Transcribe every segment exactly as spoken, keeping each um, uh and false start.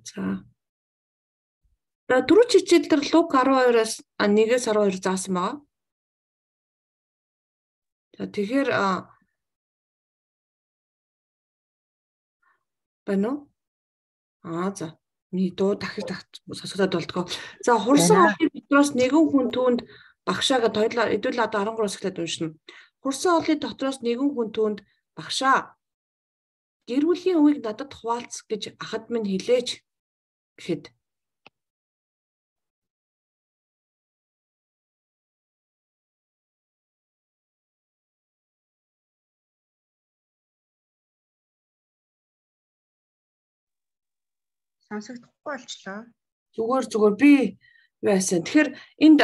За. Дөрөв хичээл дээр Лук twelve-аас one-ээс twelve заасан байгаа. За тэгэхээр байна уу? Аа за. Миний дуу дахиж сонсогдоод болтгоо. За хурсан олны дотроос нэгэн хүн түүнд багшаага тойлоо хэдүүл одоо twelve-оос эхлээд уншина. Хурсан олны дотроос нэгэн хүн түүнд багшаа гэр бүлийн үеийг надад хуваалц гэж ахад минь хэлээч гэхэд сонсогдохгүй болчлоо. Зүгээр зүгээр би байсан. Тэгэхээр энд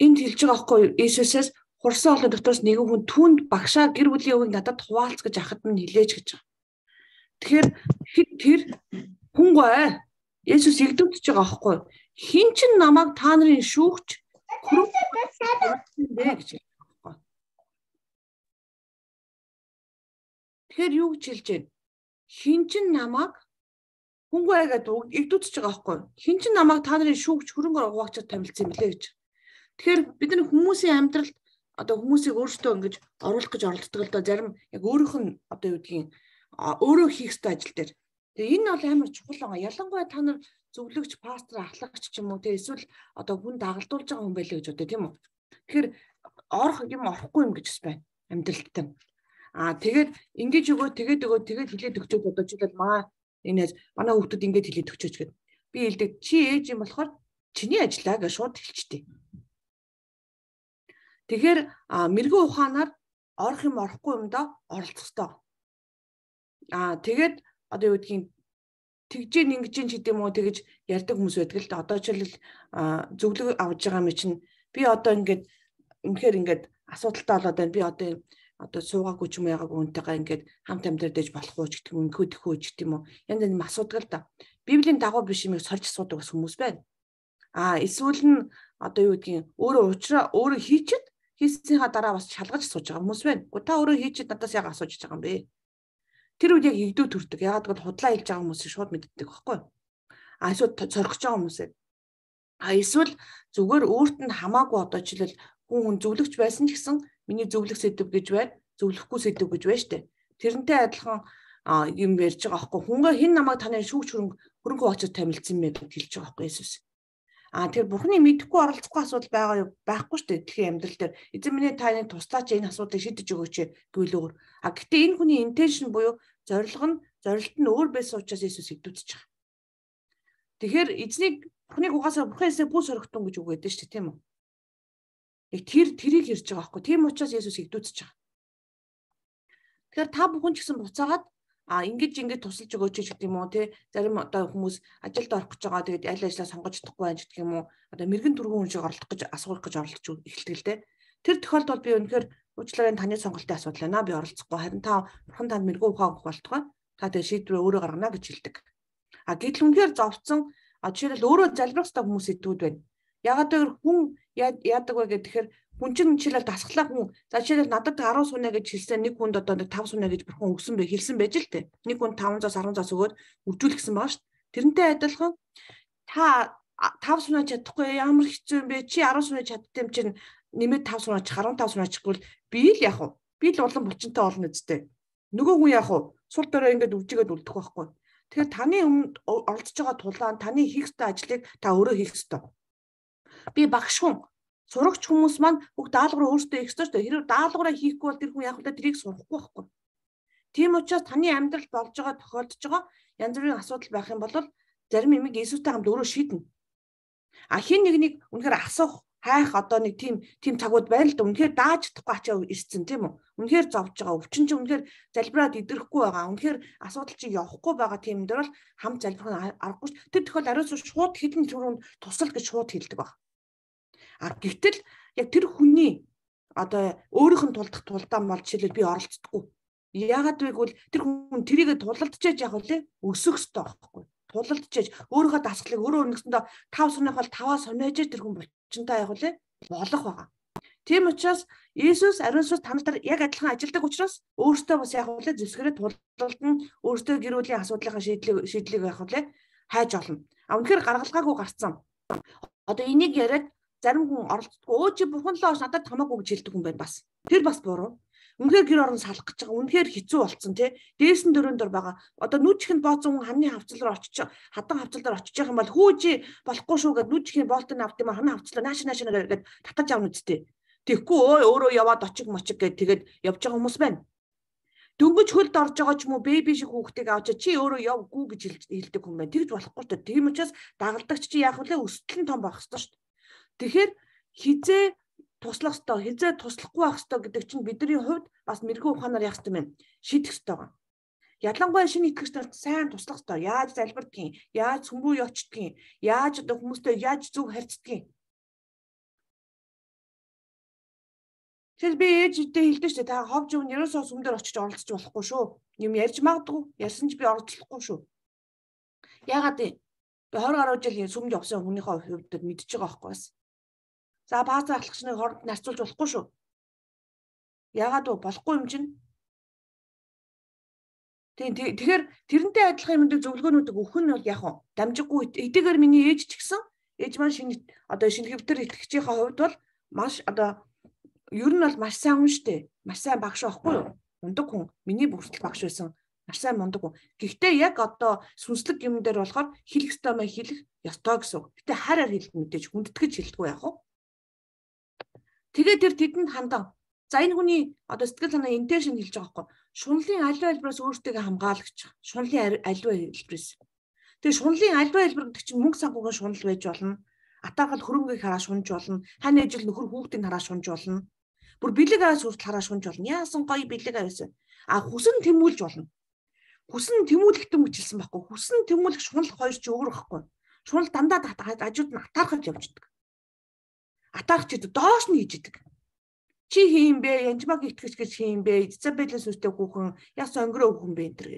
энд хэлж байгаа байхгүй Иесусээс хурсан олны дотроос нэгэн хүн түүнд багшаа гэр бүлийн үеийг надад хуваалц гэж ахад минь хэлээч гэж байгаа. Тэгэхээр тэр хүн гоо Иесус игдвдэж байгаа байхгүй. Хин ч намайг та нарын шүүгч хөрөв гэж байгаа. Тэгэхээр юу гэж хэлж байна? Хин ч намайг хүн гоо гэдэг игдвдэж байгаа байхгүй. Хин ч намайг та нарын шүүгч хөрөнгөөр хуваалцаад тамилсан юм лээ гэж. Тэгэхээр бид нар хүмүүсийн амьдралд одоо хүмүүсийг өөрсдөө ингэж оруулах гэж оролддог л доо зарим яг өөрийнх нь одоо юу гэдгийг өөрөө хийх ёстой ажил дээр. Тэгээ энэ бол амар чухал байгаа. Ялангуяа та нар зөвлөгч, пастор, ахлагч ч юм уу те эсвэл одоо хүн дагалдуулж байгаа хүн байлаа гэж бодё тийм үү. Тэгэхээр орох юм орохгүй юм гэж байна амьдралттай. Аа тэгээд ингэж өгөө тэгээд өгөө тэгээд хилээд өгчөөд одоо жишээлбэл маа энэ манай хүүхдүүд ингэж хилээд өгчөөч гэдэг. Би хэлдэг чи ээж юм болохоор чиний ажиллаа гэж шууд хэлчихтэй. Тэгэхээр мэрэгэн ухаанаар орох юм орохгүй юм да оролцох ёстой. Аа тэгээд одоо юу гэдгийг тэгжээ ингэж ч гэдэм үү тэгж ярьдаг хүмүүс байдаг л да. Одоо жишээлбэл зөвлөгөө авж байгаа юм чинь би одоо ингэж үнэхээр ингэж асуудалтай болоод байна. Би одоо одоо суугаагүй ч юм яагаад үнтэйгээ ингэж хамт амьдэрдэж болох уу ч гэдэг юм үнхүү тэхүү ч гэдэг юм уу. Янз янз асуудаг л да. Библийн дагуу биш юмыг сорж асуудаг бас хүмүүс байна. Аа эсвэл нь одоо юу гэдгийг өөрөө уучраа өөрөө хийчихэд хийсийнхаа дараа бас шалгаж асууж байгаа хүмүүс байна. Гэхдээ та өөрөө хийчихэд надаас яагаад асууж байгаа юм бэ? Тэр үед яг игдүү төрдөг. Ягаад гэвэл худлаа хэлж байгаа хүмүүсийг шууд мэддэг байхгүй. А эсвэл цорхож байгаа хүмүүсээ. А эсвэл зүгээр өөрт нь хамаагүй одоо жишээл хүн хүн зөвлөгч байсан ч гэсэн миний зөвлөх сэдв гэж байна, зөвлөхгүй сэдв гэж байна штэ. Тэрнтэй адилхан юм ярьж байгаа байхгүй. Хүнгээ хэн намайг таны шүүгч хөрөнгө хөрөнгө хуваалцаж тамилсан мэ гэж хэлж байгаа байхгүй Иесус. А тэр бурхны мэдэхгүй оролцохгүй асуудал байгаа юу байхгүй штэ. Тэгэхээр амьдрал дээр эзэн минь таны туслаач энэ асуудлыг шийдэж өгөөч гэвэл өөр. А гэтээ энэ хүний интеншн буюу зорилго нь зорилт нь өөр байсан учраас Иесус игдвдэж байгаа. Тэгэхээр эзнийг бурхныг угаасаа бурхан эсээ бүх сорогтон гэж үг өгдөө штэ тийм үү? Яг тэр тэрийг ярьж байгаа байхгүй. Тийм учраас Иесус игдвдэж байгаа. Тэгэхээр та бүхэн ч гэсэн буцаагаад а ингэж ингэж тусалж өгөөч гэдэг юм уу те зарим одоо хүмүүс ажилд орох гэж байгаа тэгээд аль ажлаа сонгож чадахгүй байж гэдэг юм уу одоо мэрэгэн түргэн хүн шиг оролдох гэж асуулах гэж оролдож эхэлдэг л те тэр тохиолдолд би үнэхээр уучлаарай таны сонголтын асуудал байна би оролцохгүй харин та бурхан танд мэрэгэн ухаан өгөх болтугай та тэгээд шийдвэрээ өөрөө гаргана гэж хэлдэг а гэтэл үнэхээр зовцсон а жишээлбэл өөрөө залбирах хэрэгтэй хүмүүс идэвд байна ягаад гэвэл хүн яадаг вэ гэхээр хүн чинь жишээлбэл дасглаа хүн за жишээлбэл надад ten сунаа гэж хэлсэн нэг хүнд одоо five сунаа гэж бурхан өгсөн бай хэлсэн байж л тээ. Нэг хүн five hundred ten өгөөд үржүүлсэн байгаа шүү дээ. Тэрнтэй адилхан та five сунаа чадахгүй ямар хэцүү юм бэ? Чи ten сунаа чаддсан юм чинь нэмээд five сунаа ч fifteen сунаа чихгүй би л яах вэ? Би л улам булчинтай олно үстэй. Нөгөө хүн яах вэ? Сул дорой ингээд өвжигээд үлдэх байхгүй. Тэгэхээр таны өмнө оролцож байгаа тулаан таны хийх ёстой ажлыг та өөрөө хийх ёстой. Би багш хүн сурагч хүмүүс маань бүх даалгавраа өөрсдөө хийх ёстой шүү дээ. Хэрвээ даалгавраа хийхгүй бол тэр хүн яг л тэрийг сурахгүй байхгүй. Тийм учраас таны амьдрал болж байгаа тохиолдож байгаа янз бүрийн асуудал байх юм бол зарим юмыг Иесустай хамт өөрөө шийднэ. А хин нэг нэг үнэхээр асуух, хайх одоо нэг тийм тийм цагууд байна л да. Үнэхээр дааж чадахгүй ачаа ирсэн тийм үү? Үнэхээр зовж байгаа. Өвчин чинь үнэхээр залбираад идрэхгүй байгаа. Үнэхээр асуудал чинь явахгүй байгаа тийм дээр бол хамт залбирах аргагүй шүү. Тэр тохиол ариус шууд хідэн түрүүнд тусал гэж шууд хэлдэг баг. А гэтэл яг тэр хүний одоо өөрийнх нь тулдах тулдаан бол жишээлбэл би оролцдоггүй. Яагаад вэ гэвэл тэр хүн тэрийг тулалдчихэж яг үлээ өсөх ёстой байхгүй. Тулалдчихэж өөрийнхөө дасгалыг өөрөө өрнөсөндөө five сунах бол five сунаж тэр хүн болчинтай яг үлээ болох байгаа. Тийм учраас Иесус ариун сүнс та нарт яг адилхан ажилдаг учраас өөртөө бас яг үлээ зэвсгэрээ тулалдна, өөртөө гэр бүлийн асуудлынхаа шийдлийг шийдлийг яг үлээ хайж олно. А үнэхээр гаргалгаагүй гарцсан. Одоо энийг яриад зарим хүн оролцдоггүй. Өө чи бурхан л оош надад хамаагүй гэж хэлдэг хүн байна бас. Тэр бас буруу. Үнэхээр гэр орон салах гэж байгаа. Үнэхээр хэцүү болцсон тий. Дээсэн дөрөнд дор байгаа. Одоо нүдчихэнд бооцсон хүн ханы хавцал руу очиж хадан хавцал дээр очиж байгаа юм бол хүү чи болохгүй шүү гэд нүдчихийн боолтон авт юм ханы хавцлаа нааш нааш нэгээд татаж авна үсттэй. Тэгэхгүй өө өөрөө яваад очиг мочиг гэд тэгээд явж байгаа хүмүүс байна. Дөнгөж хөлд орж байгаа ч юм уу бэби шиг хүүхдийг авч чи өөрөө явгүй гэж хэлдэг хүн байна. Тэгж болохгүй шүү дээ. Тийм учраас дагалдагч чи яах вэ? Өсөлт нь том байх ёстой шүү дээ. Тэгэхээр хизээ туслах ёстой, хизээ туслахгүй байх ёстой гэдэг чинь бидний хувьд бас мэрэгүү ухаанаар яах ёстой юм. Шийдэх ёстой байгаа. Ялангуяа шинэ итгэгч нарт сайн туслах ёстой. Яаж залбирдгийг, яаж сүм рүү явчихдгийг, яаж одоо хүмүүстэй яаж зөв харьцдгийг. Тэгэхээр би ээжтэй хэлдэг шүү дээ. Та ховж өвн ерөөсөө сүм дээр очиж оролцож болохгүй шүү. Юм ярьж магадгүй. Ярьсан ч би оролцохгүй шүү. Яагаад вэ? Би хойр гаруй жил сүмд явсан хүнийхээ хувьд мэдчихэж байгаа байхгүй бас. За пастор ахлагчныг хооронд нарцуулж болохгүй шүү. Яагаад вэ? Болохгүй юм чинь. Тийм тэгэхээр тэрнтэй адилхан юмд зөвлөгөөнүүдийг өгөх нь бол яг хөө дамжиггүй эдгээр миний ээж ч гэсэн ээж маань шинэ одоо шинэ хэвтер итгэгчийн хувьд бол маш одоо ер нь бол маш сайн хүн шүү дээ. Маш сайн багш байхгүй юу? Мундаг хүн. Миний бүрсгэл багш байсан. Маш сайн мундаг хүн. Гэхдээ яг одоо сүнслэг юм дээр болохоор хэлэх ёстой мэй хэлэх ёстой гэсэн. Гэтэ хараар хэлэх мэдээж хүндэтгэж хэлдэггүй яах вэ? Тэгээ тэр тэдэнд хандан. За энэ хүний одоо сэтгэл санаа интеншн хэлж байгаа байхгүй. Шунлын аливаа хэлбэрээс өөртөө хамгаалагч. Шунлын аливаа хэлбэрээс. Тэгээ шунлын аливаа хэлбэр гэдэг чинь мөнгө санхүүгийн шунал байж болно. Атаархал хөрөнгөийг хараа шунж болно. Хань ажил нөхөр хүүхдийг хараа шунж болно. Бүр бэлэг аваас хүртэл хараа шунж болно. Яасан гоё бэлэг аваас. А хүсэн тэмүүлж болно. Хүсэн тэмүүлэхтэн мөчилсэн байхгүй. Хүсэн тэмүүлэх шунал хоёр ч өөр байхгүй. Шунал дандаа ажууд нь атаархаж явждаг. Атаархч доош нь хийждэг. Чи хийм бэ? Янжмаг итгэж гэж хийм бэ? Изабелээс үстэй хүүхэн яс сонгороо хүүхэн бэ энэ төр.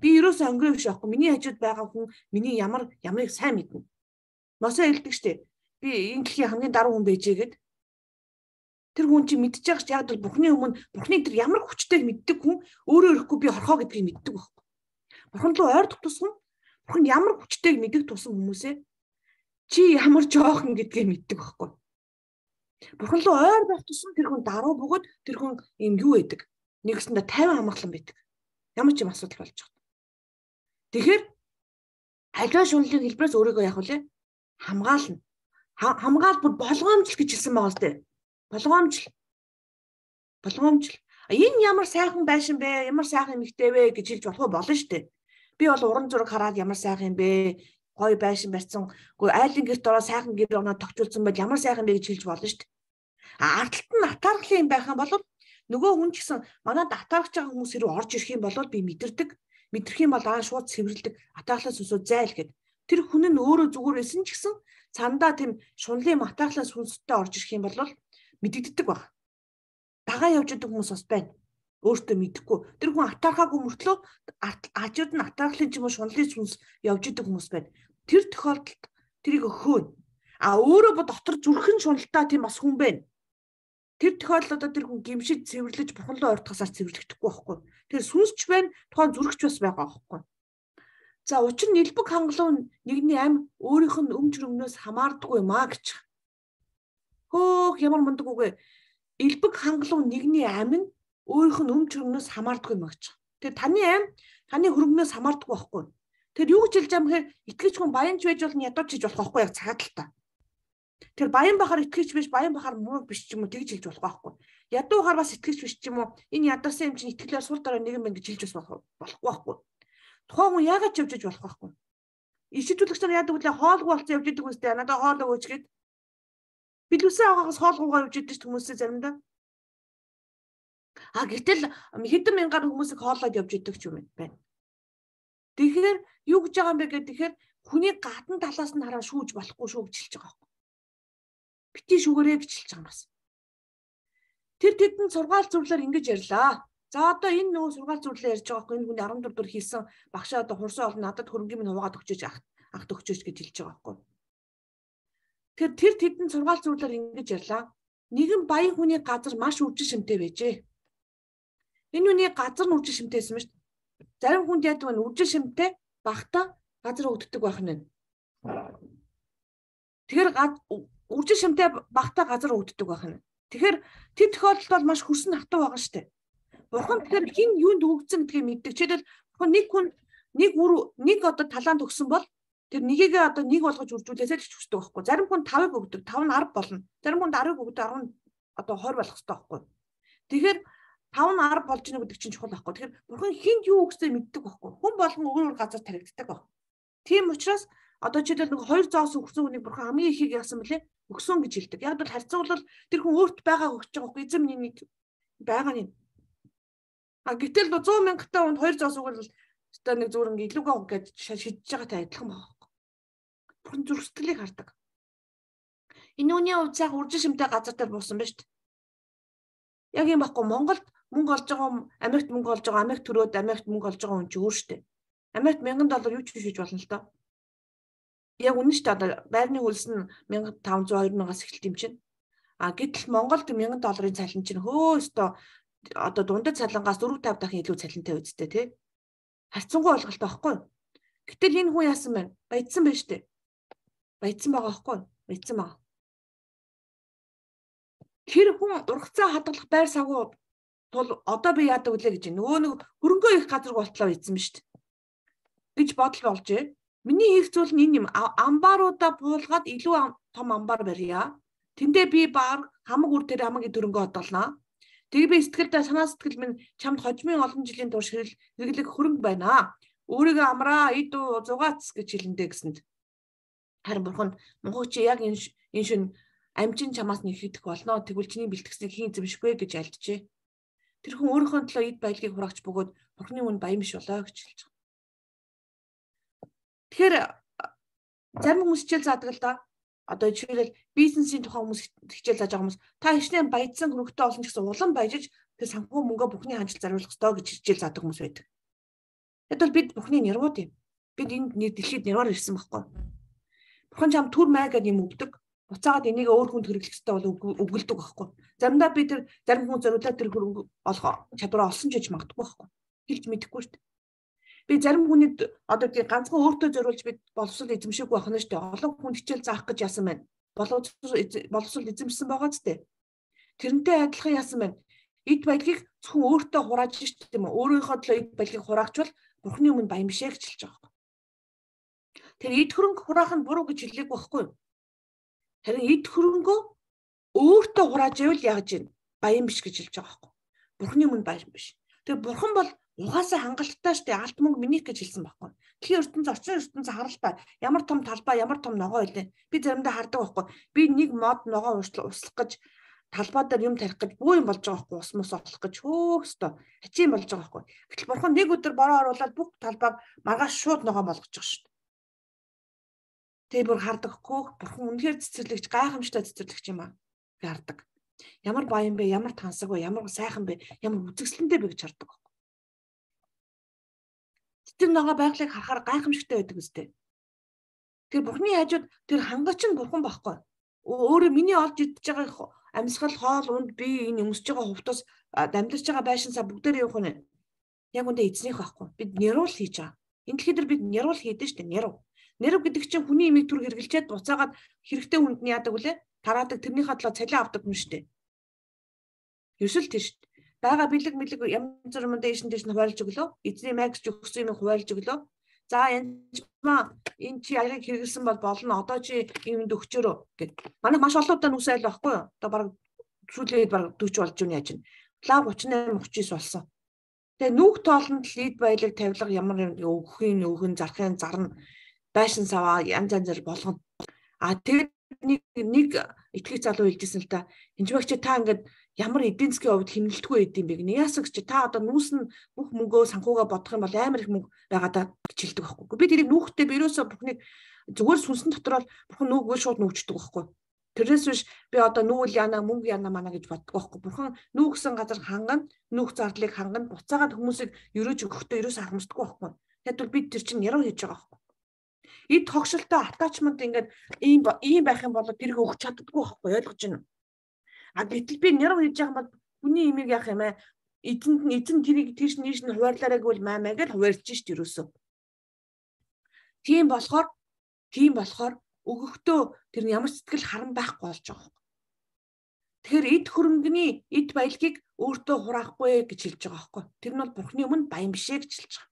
Би ерөөсөө сонгороо биш байхгүй. Миний хажууд байгаа хүн миний ямар ямарыг сайн мэднэ. Мосоо хэлдэг штэ. Би энэ дэлхийн хамгийн даруй хүн байжээ гэд. Тэр хүн чи мэдчих яг ч яг л Бурхны өмнө Бурхны тэр ямар хүчтэйг мэддэг хүн өөрөө ирэхгүй би хорхоо гэдгийг мэддэг байхгүй. Бурхан руу ойрдох тусам Бурхан ямар хүчтэйг мэддэг тусам хүмүүсээ чи ямар жоохон гэдгийг мэддэг байхгүй. Бурхан руу ойр байх тусам тэр хүн даруй бөгөөд тэр хүн юм юу байдаг. Нэгсэндээ тайван амгалан байдаг. Ямар ч юм асуудал болж байгаа. Тэгэхээр аливаа шунлын хэлбэрээс өөрийгөө яах вэ? Хамгаална. Хамгаал бүр болгоомжл гэж хэлсэн байгаа л дээ. Болгоомжл. Болгоомжл. Энэ ямар сайхан байшин бэ? Ямар сайхан эмэгтэй вэ гэж хэлж болох болно шүү дээ. Би бол уран зураг хараад ямар сайхан юм бэ? Гоё байшин барьсан. Гэхдээ айлын гэрт ороо сайхан гэр оноо тогтуулсан байл ямар сайхан бэ гэж хэлж болно шүү дээ. А ардталт нь атаархлын юм байх юм бол нөгөө хүн ч гэсэн манад атаархаж байгаа хүмүүс хэрэг орж ирэх юм бол би мэдэрдэг. Мэдрэх юм бол аа шууд цэвэрлдэг. Атаархлаас өсөө зайл гэд. Тэр хүн нь өөрөө зүгээр байсан ч гэсэн цандаа тийм шунлын атаархлаас хүнстэй орж ирэх юм бол мэдэгддэг баг. Дагаа явж идэг хүмүүс бас байна. Өөртөө мэдэхгүй. Тэр хүн атаархаагүй мөртлөө ажууд нь атаархлын ч юм уу шунлын сүнс явж идэг хүмүүс байна. Тэр тохиолдолд тэрийг өхөөнө. А өөрөө бод дотор зүрхэн шуналтай тийм бас хүн байна. Тэр тохиолдолд тэр хүн гимшиж цэвэрлэж Бурхан руу ойртохосаар цэвэрлэгдэхгүй байхгүй. Тэр сүнсч байна, тухайн зүрхч бас байгаа байхгүй. За учир нь элбэг хангалуун нэгний ам өөрийнх нь өмч рөмнөөс хамаардаггүй юм а гэж. Хөөх ямар мундаг үгүй. Элбэг хангалуун нэгний ам нь өөрийнх нь өмч рөмнөөс хамаардаггүй юм гэж. Тэр таны ам таны хөрөнгнөөс хамаардаггүй байхгүй. Тэр юу гэж хэлж байгаа юм хэрэг итгэж хүн баянч байж болно ядууч хийж болох байхгүй яг цагааталтаа. Тэр баян бахаар итгэж биш баян бахаар муу биш ч юм уу тэгж хэлж болох байхгүй. Ядуугаар бас итгэж биш ч юм уу энэ ядарсан юм чинь итгэлээр сул дараа нэгэн байна гэж хэлж бас болохгүй байхгүй. Тухайн хүн яагаад ч явж иж болох байхгүй. Ишидүүлэгч нар яадаг вэ? Хоолгүй болцсон явж идэг үстэй надад хоол өгөөч гэд. Билүүсээ агаагаас хоолгуугаар явж идэг хүмүүсээ заримдаа. А гэтэл хэдэн мянгаар хүмүүсийг хоолоод явж идэг ч юм байна. Тэгэхээр юу гэж байгаа юм бэ гэдэг тэгэхээр хүний гадна талаас нь хараа шүүж болохгүй шүү гэж хэлж байгаа байхгүй. Бити шүүгээрээ гэж хэлж байгаа юм бас. Тэр тэдэн сургаал зөвлөөр ингэж ярьлаа. За одоо энэ нөгөө сургаал зөвлөлөө ярьж байгаа байхгүй энэ хүний арван дөрөв дэх хийсэн багшаа одоо хурсан олон надад хөрөнгөний минь хуваагаад өгчөөж агт өгчөөж гэж хэлж байгаа байхгүй. Тэгэхээр тэр тэдэн сургаал зөвлөөр ингэж ярьлаа. Нэгэн баян хүний газар маш үржин шимтэй байжээ. Энэ хүний газар нь үржин шимтэйсэн мэт. Зарим хүнд яадаг вэ? Үржин шимтэй багтаа газар өгддөг байх нь. Тэгэхээр үржил шимтэй багтаа газар өгддөг байх нь. Тэгэхээр тэр тохиолдолд бол маш хөрсөн хатуу байгаа шүү дээ. Бурхан тэгэхээр хин юунд өгцөн гэдгийг мэддэг. Жишээлбэл бурхан нэг хүн нэг үр нэг одоо талаанд өгсөн бол тэр нэгийгээ одоо нэг болгож үржүүлээсэй л хүсдэг байхгүй. Зарим хүн тавыг өгдөг, тав нь арав болно. Зарим хүнд арвыг өгдөг, арав нь одоо хойр болох хэрэгтэй байхгүй. Тэгэхээр тав нь арав болж ийнэ гэдэг чинь чухал байхгүй. Тэгэхээр бурхан хинд юу өгсөө мэддэг байхгүй. Хүн болгон өөр өөр газар таригддаг баг. Тийм учраас одоо жишээлбэл нэг хоёр зоос өгсөн хүнийг бурхан хамгийн ихийг яасан бэлээ? Өгсөн гэж хэлдэг. Яг бол харьцуулбал тэр хүн өөрт байгаа өгч байгаа байхгүй. Эзэм нэг байгаа нь. А гэтэл сто мянган хүнд хоёр зоос өгвөл одоо нэг зүгээр ингээ илүүгээ үг гэж шийдэж байгаатай адилхан байгаа. Бурхан зүрх сэтгэлийг хардаг. Энэ үний хувьд цаах үржил шимтэй газар дээр буусан ба шүү дээ. Яг юм баггүй Монголд мөнгө олж байгаа Америкт мөнгө олж байгаа Америк төрөөд Америкт мөнгө олж байгаа хүн ч өөр шүү дээ. Америкт мянган доллар юу ч хийж болно л доо. Яг үнэн шүү дээ. Одоо байрны хөлс нь мянга таван зуун хоёр мянгаас эхэлт юм чинь. А гэтэл Монголд мянган долларын цалин чинь хөө өстө одоо дундад цалингаас дөрөв тавь дахин илүү цалинтай үсттэй тий. Харьцангуй ойлголттой байхгүй. Гэтэл энэ хүн яасан бэ? Баяжсан байж тээ. Баяжсан байгаа байхгүй. Баяжсан байгаа. Тэр хүн ургацаа хадгалах байр сагуу тул одоо би яадаг үлээ гэж нөгөө нэг хөрөнгөө их газар болтлоо ийдсэн ба шүү дээ. Гэж бодол болжээ. Миний хийх зүйл нь энэ юм. Амбаруудаа буулгаад илүү том амбар барья. Тэндээ би баг хамаг үр тэр хамаг дөрөнгөө одолноо. Тэгээ би сэтгэлдээ санаа сэтгэл минь чамд хожмын олон жилийн турш хэрэглэх хөрөнгө байна. Өөрийгөө амраа ид зугаац гэж хэлэндээ гэсэнд. Харин бурхан Монгол чи яг энэ энэ шин амжин чамаас нэг хийх болно. Тэгвэл чиний бэлтгэснийг хийн зэмшгүй гэж альджээ. Тэр хүн өөрийнхөө төлөө ид баялагийг хураагч бөгөөд бурхны үн баян биш болоо гэж хэлж байгаа. Тэгэхээр зарим хүмүүс хичээл заадаг л да. Одоо жишээлбэл бизнесийн тухай хүмүүс хичээл зааж байгаа хүмүүс та хичнээн баяжсан хөрөнгөтэй олон ч гэсэн улам баяжиж тэр санхүү мөнгөө бүхний хандлт заруулах ёстой гэж хичээл заадаг хүмүүс байдаг. Тэгэд бол бид бүхний нэрвууд юм. Бид энэ нэр дэлхийд нэрваар ирсэн байхгүй. Бурхан чам түр май гэдэг юм өгдөг. Буцаагаад энийг өөр хүнд хэрэглэх ёстой бол өгүүлдэг байхгүй. Заримдаа би тэр зарим хүн зориулаад тэр хөрөнгө олох чадвараа олсон ч гэж магадгүй байхгүй. Хэлж мэдэхгүй шүү дээ. Би зарим хүнийг одоо тийм ганцхан өөртөө зориулж бид боловсрол эзэмшээгүй байх нь шүү дээ. Олон хүн хичээл заах гэж яасан байна. Боловсрол эзэмшсэн байгаа ч дээ. Тэрнтэй адилхан яасан байна. Эд баялагийг зөвхөн өөртөө хурааж шүү дээ юм уу? Өөрийнхөө төлөө эд баялагийг хураагчвал бурхны өмнө баян бишээ гэж хэлж байгаа байхгүй. Тэр эд хөрөнгө хураах нь буруу гэж хэлээгүй байхгүй юу? Харин эд хөрөнгөө өөртөө хурааж ивэл яаж ийн баян биш гэж хэлж байгаа байхгүй. Бурхны өмнө баян биш. Тэгээ бурхан бол угаасаа хангалттай штэ алт мөнгө минийх гэж хэлсэн байхгүй. Тэгэхээр ертөнц орчин ертөнц харалтай ямар том талбай ямар том ногоо илээ. Би заримдаа хардаг байхгүй. Би нэг мод ногоо услах гэж талбай дээр юм тарих гэж бүү юм болж байгаа байхгүй. Ус мус олох гэж хөөхстөө хачийн болж байгаа байхгүй. Гэтэл бурхан нэг өдөр бороо оруулаад бүх талбайг маргааш шууд ногоо болгож байгаа штэ. Тэгээ бүр хардаг хөөх бурхан үнэхээр цэцэрлэгч гайхамшигтай цэцэрлэгч юм аа. Би хардаг. Ямар баян бэ, ямар тансаг вэ, ямар сайхан бэ, ямар үзэсгэлэнтэй бэ гэж хардаг. Тэр ногоо байгалыг харахаар гайхамшигтай байдаг үстэй. Тэр бурхны хажууд тэр хангач нь бурхан байхгүй. Өөрөө миний олж идэж байгаа амьсгал хоол унд би энэ өмсөж байгаа хувцас дамжирч байгаа байшинсаа бүгдээр явах нь яг үндэ эзнийх байхгүй. Бид нэрүүл хийж байгаа. Энэ дэлхийд бид нэрүүл хийдэж штэ нэрв. Нэрв гэдэг чинь хүний имийг түр хэрглчээд буцаагаад хэрэгтэй хүнд нь яадаг үлээ? Тараадаг тэрний хадлаа цалин авдаг юм штэ. Ерсөл тийш. Бага бэлэг мэлэг янз бүрийн дэшин дэш нь хуваарлж өглөө. Эзний магч өгсөн юм хуваарлж өглөө. За янз маа энэ чи аяг хэрэгэлсэн бол болно. Одоо чи юмд өгчөөрөө гэд. Манай маш олон удаа нүс айл байхгүй юу? Одоо баг сүүлээд баг дөрвөн болж юу яаж чинь. Лав гуйч осем гуйч девять болсон. Тэгээ нүх тоолонд лид баялаг тавилга ямар өгөхийн өгөн зархын зарна байшин саваа янз янзэр болгоно. А тэгээд нэг нэг итгэх залуу хэлжсэн л та. Энд багч та ингээд ямар эдийн засгийн хувьд хэмнэлтгүй байд юм бэ гэнэ. Яасагч та одоо нүүс нь бүх мөнгөө санхугаа бодох юм бол амар их мөнгө байгаадаа гэж хэлдэг байхгүй. Би тэрийг нүүхтэй бирөөсөө бүхнийг зүгээр сүнсэн дотор бол бурхан нүгөө шууд нүүчдэг байхгүй. Тэрнээс биш би одоо нүүл яана мөнгө яана мана гэж боддог байхгүй. Бурхан нүүгсэн газар хангана, нүүх зардлыг хангана, буцаагаад хүмүүсийг өрөөж өгөхдөө ерөөсөө харамсдаггүй байхгүй. Тэгвэл бид тэр чинь яруу хийж байгаа байхгүй. Эд тогшилтой attachment ингээд ийм ийм байх юм бол тэрийг өгч чаддаггүй байхгүй ойлгож байна. А гэтэл би нэрв хийж байгаа бол хүний имийг яах юм аа эзэнд нь эзэн тэрийг тийш нийш нь хуваарлаарай гэвэл маа маа гэж хуваарлж шít ерөөсөө. Тийм болохоор тийм болохоор өгөхдөө тэр ямар сэтгэл харан байхгүй болж байгаа юм. Тэгэхээр эд хөрөнгөний эд баялагийг өөртөө хураахгүй гэж хэлж байгаа байхгүй. Тэр нь бол Бурхны өмнө баян бишээ гэж хэлж байгаа.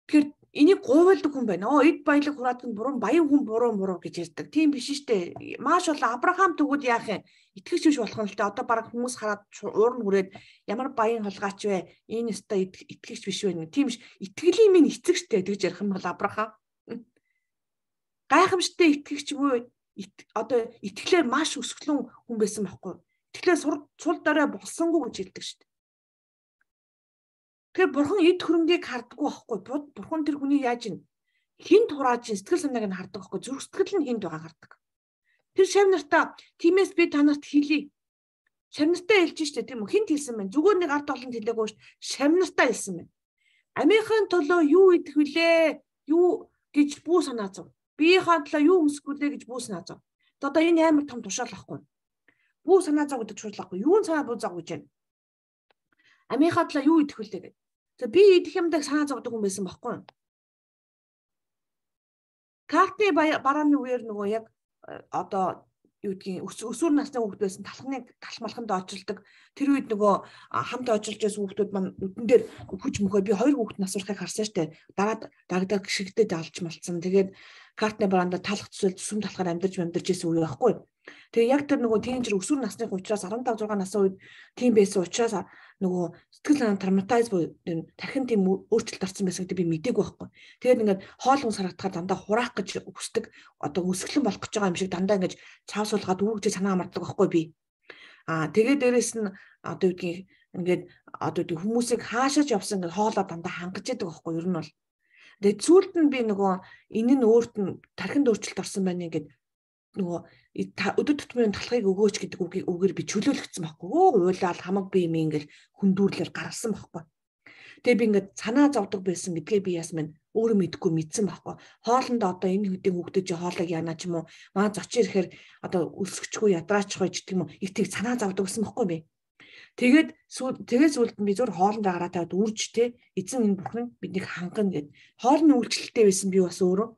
Тэгэхээр энийг гуйвалдаг хүн байна. Оо эд баялаг хураадаг нь буруу, баян хүн буруу буруу гэж ярьдаг. Тийм биш шүү дээ. Маш бол Авраам төгөөд яах юм? Итгэж биш болох нь л дээ. Одоо баг хүмүүс хараад уурн хүрээд ямар баян холгаач вэ? Энэ өстой итгэж биш вэ? Тийм биш. Итгэлийн минь эцэг штэ тэгж ярих юм бол Авраам. Гайхамшигтай итгэгч буюу одоо итгэлээр маш өсгөлөн хүн байсан байхгүй. Итгэлээр сул дорой болсонгүй гэж хэлдэг шүү дээ. Тэгэхээр бурхан эд хөрөнгийг хардггүй байхгүй. Бурхан тэр хүний яаж ин хинт хурааж сэтгэл санааг нь хардаг байхгүй. Зүрх сэтгэл нь хинт байгаа хардаг. Тэр шав нартаа тиймээс би танарт хэлье. Шав нартаа хэлж штэ тийм үү? Хинт хэлсэн байна. Зүгээр нэг ард олонд хэлээгүй ш. Шав нартаа хэлсэн байна. Амийнхын төлөө юу идэх вүлээ? Юу гэж бүү санаа зов. Биеийнхээ төлөө юу өмсгүүлээ гэж бүү санаа зов. Одоо энэ амар том тушаал ахгүй. Бүү санаа зов гэдэг шуудлахгүй. Юун санаа бүү зов гэж байна. Амийнхаа төлөө юу идэх вүлээ гэдэг. За би идэх юмдаг санаа зовдөг хүн байсан байхгүй. Картны барааны үеэр нөгөө яг одоо юу гэдгийг өсвөр насны хүүхэд байсан талхныг талмалханд очилдог. Тэр үед нөгөө хамт очилж байсан хүүхдүүд маань нүдэн дээр хүч мөхөө би хоёр хүүхэд насурахыг харсан штэ. Дараа дагдаг шигдэд алж малцсан. Тэгээд картны бараанда талах төсөл зүсэм талахаар амьдарч амьдарч байсан үе байхгүй. Тэгээ яг тэр нөгөө тeenager өсвөр насны учраас арван дав зургаан насны үед тийм байсан учраас нөгөө сэтгэл санаа травматайз буюу тархин тийм өөрчлөлт орсон байсан гэдэг би мэдээгүй байхгүй. Тэгээд ингээд хоол хүнс харагдахаар дандаа хураах гэж хүсдэг одоо өсгөлэн болох гэж байгаа юм шиг дандаа ингээд цаавсуулгаад үүрэгч санаа амардаг байхгүй би. Аа тэгээд дээрэс нь одоо юу гэдгийг ингээд одоо юу хүмүүсийг хаашаач явсан ингээд хоолоо дандаа хангаж яадаг байхгүй ер нь бол. Тэгээд сүүлд нь би нөгөө энэ нь өөрт нь тархинд өөрчлөлт орсон байна ингээд нөгөө өдөр тутмын талхыг өгөөч гэдэг үгийг үгээр би чөлөөлөгдсөн байхгүй. Өө уйлал хамаг би юм ингээл хүндүүрлэл гаргасан байхгүй. Тэгээ би ингээд санаа зовдөг байсан гэдгээ би ясмэн өөрөө мэдгүй мэдсэн байхгүй. Хоолнд одоо энэ хөдийн хүүхдүүд чи хоолыг яана ч юм уу маа зочин ирэхээр одоо өсгөчгүй ядраачихгүй ч гэдэг юм уу их тийг санаа зовдөг гэсэн байхгүй би. Тэгээд тэгээс үлд нь би зур хоолнд гараа тавьад үрж те эзэн энэ бүхэн биднийг хангана гэд хоолны үйлчлэлтэй байсан би бас өөрөө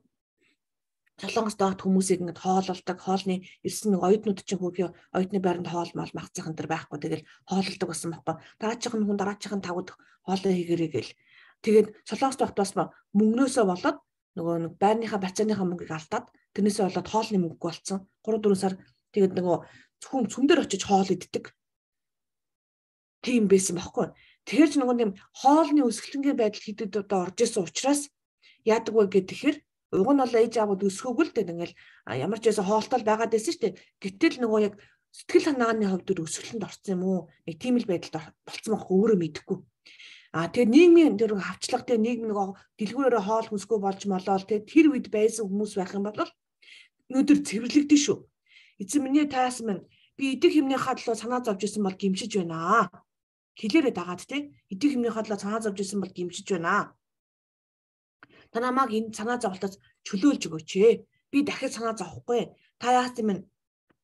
Солонгост дагт хүмүүсийг ингээд хоололдог, хоолны ирсэн нэг оюутнууд чинь хөөе оюутны байранд хоол мал магцах энэ төр байхгүй. Тэгэл хоололдог байсан байхгүй. Дараачихын хүн дараачихын тавд хоолоо хийгэрэй гэл. Тэгээд Солонгост багт бас мөнгнөөсөө болоод нөгөө нэг байрныхаа бацааныхаа мөнгийг алдаад тэрнээсээ болоод хоолны мөнгө болцсон. гурав дөрвөн сар тэгээд нөгөө зөвхөн цүн дээр очиж хоол иддэг. Тийм байсан байхгүй. Тэгэхээр ч нөгөө юм хоолны өсгөлтөнгийн байдал хэдэд одоо орж исэн учраас яадаг вэ гэхээр уг нь бол ээж аавууд өсгөөгүй л дээ ингээл ямар ч байсан хоолтол байгаад байсан шүү дээ. Гэтэл нөгөө яг сэтгэл санааны хувьд өсгөлөнд орсон юм уу? Нэг тийм л байдалд болцсон байхгүй өөрөө мэдэхгүй. Аа тэгээд нийгмийн тэр хавчлага дээр нийгэм нөгөө дэлгүүрээрээ хоол хүнсгүй болж молоол тэгээд тэр үед байсан хүмүүс байх юм бол өнөөдөр цэвэрлэгдэн шүү. Эзэн миний таас минь би идэх юмныхаа төлөө санаа зовж исэн бол гимшиж байна. Хэлээрээ дагаад те идэх юмныхаа төлөө санаа зовж исэн бол гимшиж байна. Та намайг энэ санаа зовлтоос чөлөөлж өгөөч ээ. Би дахиад санаа зовхгүй. Та яах юм бэ?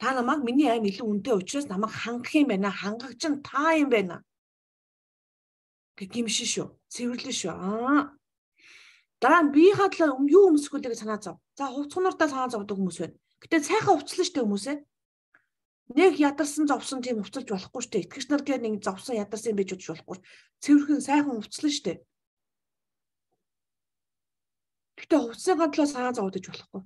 Та намайг миний айн илүү үнэтэй учраас намайг хангах юм байна. Хангагч нь та юм байна. Гэмшин шүү. Цэвэрлэн шүү. Аа. Дараа нь биеийнхээ төлөө юу өмсгүүлээ гэж санаа зов. За хувцгнуудаа санаа зовдөг хүмүүс байна. Гэтэ сайхан хувцлаа штэ хүмүүсээ. Нэг ядарсан зовсон тийм хувцалж болохгүй штэ. Итгэгч нар гээд нэг зовсон ядарсан байж удаж болохгүй. Цэвэрхэн сайхан хувцлаа штэ. Гэтэ хувцсныхаа төлөө санаа зовдож болохгүй.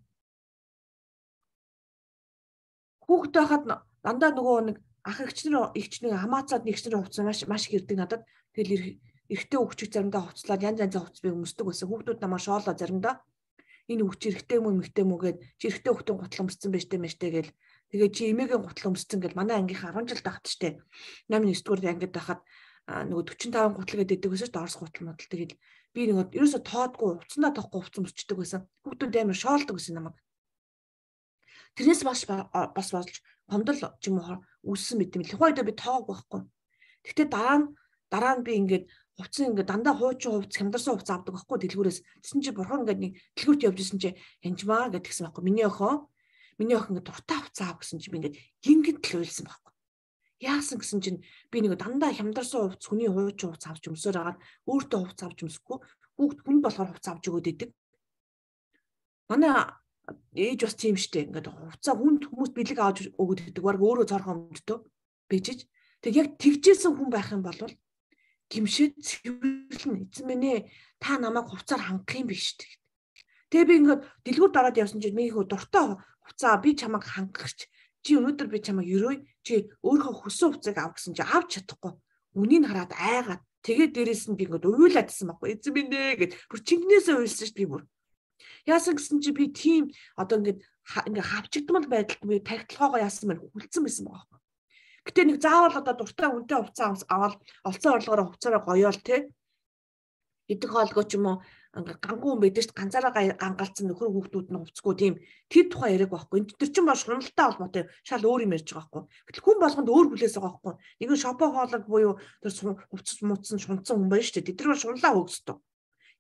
Хүүхэд байхад дандаа нөгөө нэг ах эгчнэр эгчнийг хамаацаад нэгчнэр хувцас маш маш их ирдэг надад. Тэгэл эрэгтэй хүүхчиг заримдаа хувцлаад янз янзын хувцас би өмсдөг байсан. Хүүхдүүд намаа шоолоо заримдаа энэ хүүхч эрэгтэй мүү эмэгтэй мүү гээд чи эрэгтэй хүүхдийн гутал өмссөн байж тээ мэжтэй гээл. Тэгээ чи эмээгийн гутал өмссөн гэл манай ангийнхаа арван жил тахад штэ. намын нэгдүгээр ангид байхад нөгөө дөрвөн таван гутал гэдэг байсан шүү дээ. Орос гутал модал тэгэл би нэг ерөөсө тоодгүй хувцсандаа тоохгүй хувцас өмсчдөг байсан. Хүүхдүүд амар шоолдог байсан намайг. Тэрнээс бас бас болж гомдол ч юм уу үүссэн мэт юм. Тухайд би тоог байхгүй. Гэхдээ дараа нь дараа нь би ингээд хувцас ингээд дандаа хуучин хувцас хямдарсан хувцас авдаг байхгүй дэлгүүрээс. Тэсэн чи бурхан ингээд нэг дэлгүүрт явж исэн чи янжмаа гэдгсэн байхгүй. Миний охин миний охин ингээд дуртай хувцас аав гэсэн чи би ингээд гингид л уйлсан байхгүй. Яасан гэсэн чинь би нэг дандаа хямдарсан хувцас хүний хуучин хувцас авч өмсөөр агаад өөртөө хувцас авч өмсөхгүй. Хүүхд хүн болохоор хувцас авч өгөөд идэг. Манай ээж бас тийм штэ. Ингээд хувцас хүнд хүмүүс бэлэг аваад өгöd гэдэг. Бараг өөрөө цорхон өмдтөө бийжиж. Тэг яг тэгжсэн хүн байх юм бол гимшээд цэвэрлэн эзэн минь ээ та намайг хувцаар хангах юм биш тэг. Тэгээ би ингээд дэлгүүр дараад явсан чинь миний хөө дуртай хувцаа би чамайг хангахч чи өнөөдөр би чамайг ерөөй чи өөрийнхөө хүссэн хувцааг ав гэсэн чи авч чадахгүй. Үнийг хараад айгаад тэгээд дээрээс нь би ингээд уйлаадсан байхгүй. Эзэн минь ээ гэд бүр чингнээсээ уйлсан шүү би бүр. Яасан гэсэн чи би тийм одоо ингээд ингээд хавчигдмал байдалд би тагтлагагаа яасан мэн хүлцэн байсан байгаа. Гэтэ нэг заавал одоо дуртай үнэтэй хувцас аваад олцсон орлогоор хувцаараа гоёол те. Идэх хоолгоо ч юм уу гангуй хүн байдаг шүү дээ. Ганцаараа гангалцсан нөхөр хүүхдүүд нь хувцсгүй тийм тэр тухай яриаг байхгүй. Тэр чинь бол шуналтай холбоотой шал өөр юм ярьж байгаа байхгүй. Гэтэл хүн болгонд өөр хүлээс байгаа байхгүй. Нэг нь шопо хоолог буюу тэр хувцас муцсан шунцсан хүн байна шүү дээ. Тэд нар шунлаа хөөсдөө.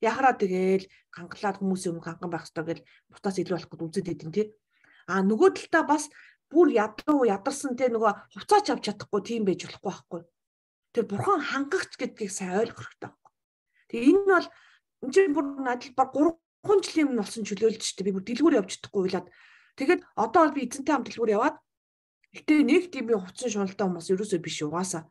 Яхараа тэгээл гангалаад хүмүүсийн өмнө ганган байх хэрэгтэй гэж бутаас илүү болох гэж үзээд идэв тий. А нөгөө талдаа бас бүр ядуу ядарсан те нөгөө хувцаач авч чадахгүй тийм байж болохгүй байхгүй. Тэр бурхан хангагч гэдгийг сайн ойлгох хэрэгтэй байхгүй. Тэгээ энэ бол энэ чинь бүр надад баг гурван жилийн өмнө болсон чөлөөлж штэ би бүр дэлгүүр явж чадахгүй уйлаад. Тэгээд одоо бол би эзэнтэй хамт дэлгүүр яваад гэтээ нэг тийм хувцсан шуналтай хүмүүс ерөөсөө биш угаасаа.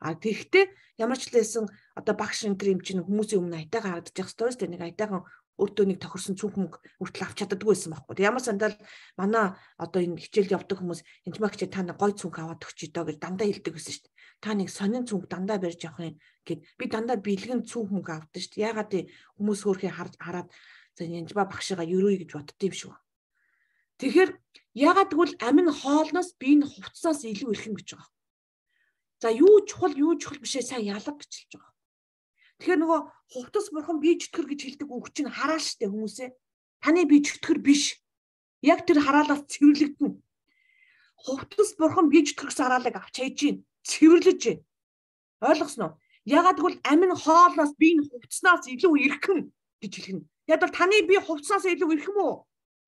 А тэгэхдээ ямар ч лээсэн одоо багш энэ юм чинь хүмүүсийн өмнө айтайхан харагдаж явах ёстой шүү дээ. Нэг айтайхан өөртөө нэг тохирсон цүнх мөнгө хүртэл авч чаддаггүй байсан байхгүй. Ямар сандал манай одоо энэ хичээлд явдаг хүмүүс энэ магч та нэг гой цүнх аваад өгч идөө гэж дандаа хэлдэг байсан шүү дээ. Та нэг сонин цүнх дандаа барьж явах юм гэд би дандаа бэлгэн цүнх мөнгө авдаг шүү дээ. Ягаад хүмүүс хөөрхий хараад за янжба багшигаа ерөөй гэж бодд юм шүү. Тэгэхээр ягаад тэгвэл амин хоолноос би энэ хувцсаас илүү ирэх юм гэж байгаа. За юу чухал юу чухал бишээ сайн ялга гэж хэлж байгаа. Тэгэхээр нөгөө хувцас бурхан бие чөтгөр гэж хэлдэг үг чинь хараал штэ хүмүүсээ. Таны бие чөтгөр биш. Яг тэр хараалаас цэвэрлэгдэнэ. Хувцас бурхан бие чөтгөрс хараалыг авч хайж гин, цэвэрлэж гин. Ойлгосноо? Ягаад гэвэл амин хоолноос би энэ хувцснаас илүү ирхэн гэж хэлнэ. Яг бол таны бие хувцснаас илүү ирхэн үү?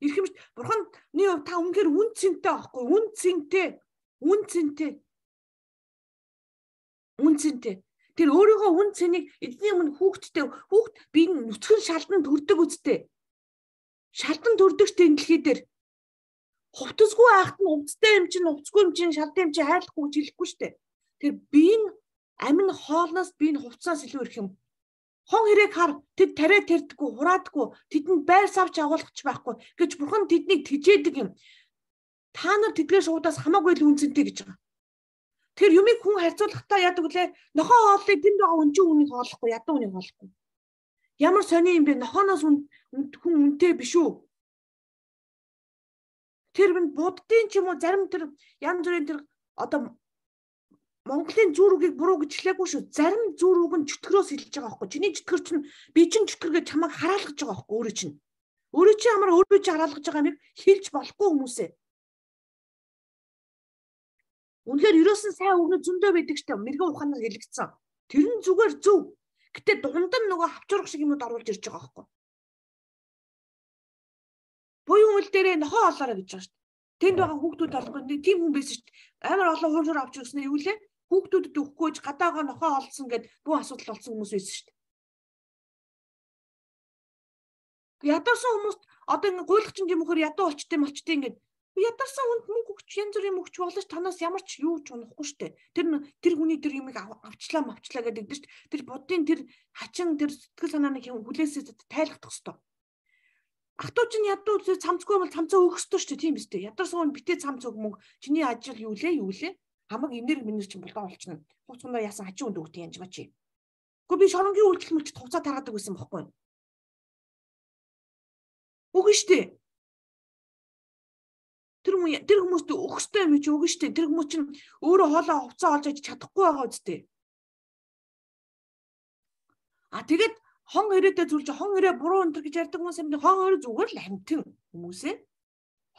Ирхэн биш. Бурханы хувьд та үнэхээр үн цэнтэй байхгүй, үн цэнтэй. Үн цэнтэй. Үн цэнтэй. Тэр өөрийнхөө үн цэнийг эзний өмнө хүүхдтэй хүүхд би нүцгэн шалдан төрдөг үсттэй. Шалдан төрдөг штэ энэ дэлхий дээр. Хувцасгүй айхт нь хувцастай юм чинь хувцасгүй юм чинь шалдан юм чинь хайрлахгүй гэж хэлэхгүй штэ. Тэр би энэ амин хоолноос би энэ хувцаас илүү ирэх юм. Хон хэрээг хар тэд тариа тэрдэггүй хураадаггүй тэдэнд байр савч агуулгач байхгүй гэж бурхан тэднийг тэжээдэг юм. Та нар тэдгээр шуудаас хамаагүй л үн цэнтэй гэж байгаа. Тэр юмыг хүн харьцуулахдаа яадаг вүлээ нохоо хооллыг тэнд байгаа үнжин үнийг хооллохгүй ядуу үнийг хооллохгүй. Ямар сони юм бэ? Нохооноос хүн үнэтэй биш үү? Тэр минь буддын ч юм уу зарим тэр янз бүрийн тэр одоо Монголын зүр үгийг буруу гэж хэлээгүй шүү. Зарим зүр үг нь чөтгөрөөс хэлж байгаа байхгүй. Чиний чөтгөр чинь би чинь чөтгөр гэж чамайг хараалгаж байгаа байхгүй өөрөө чинь. Өөрөө чи ямар өөрөө чи хараалгаж байгаа юм хэлж болохгүй хүмүүсээ. Үнэхээр ерөөсөн сайн өгнө зөндөө байдаг штэ мэрэгэн ухаанаар хэлэгдсэн. Тэр нь зүгээр зөв. Гэтэ дунд нь нөгөө хавчурах шиг юмуд оруулж ирж байгаа байхгүй. Буюу үйл дээрээ нохоо олоорой гэж байгаа штэ. Тэнд байгаа хүүхдүүд олохгүй тийм хүн байсан штэ. Амар олон хуураар авч ирсэн юу лээ? Хүүхдүүдэд өгөхгүйж гадаагаа нохоо олсон гэд бүх асуудал болсон хүмүүс байсан штэ. Ядарсан хүмүүст одоо ингэ гуйлахчин юм хөр ядуу болчтой молчтой ингэ ядарсан хүнд мөнгө өгч янз бүрийн мөнгөч болооч танаас ямар ч юу ч унахгүй штэ. Тэр тэр хүний тэр юмыг авчлаа мавчлаа гэдэг дээ штэ. Тэр буддын тэр хачин тэр сэтгэл санааны хүлээсээ тайлхдах хэвээр. Ахтуу чинь ядуу цамцгүй бол цамцаа өгөх хэвээр штэ тийм биз дээ. Ядарсан хүн битээ цамц өг мөнгө чиний ажил юу лээ юу лээ. Хамаг энерги минер чинь болоо болчихно. Хуцгандаа яасан хачин хүнд өгдөг янж бачи. Гэхдээ би шоронгийн үйлдэл мэлчд хуцаа тараадаг байсан байхгүй. Үгүй штэ. Тэр хүмүүс тэр хүмүүст өгөхтэй юм чи үгүй штэ. Тэр хүмүүс чинь өөрөө хоолоо хувцаа олж аж чадахгүй байгаа үстэй. А тэгээд хон ирээдээ зүйлж хон ирээ буруу өнтер гэж ярьдаг хүмүүс юм. Хон ирээ зүгээр л амтэн хүмүүсээ.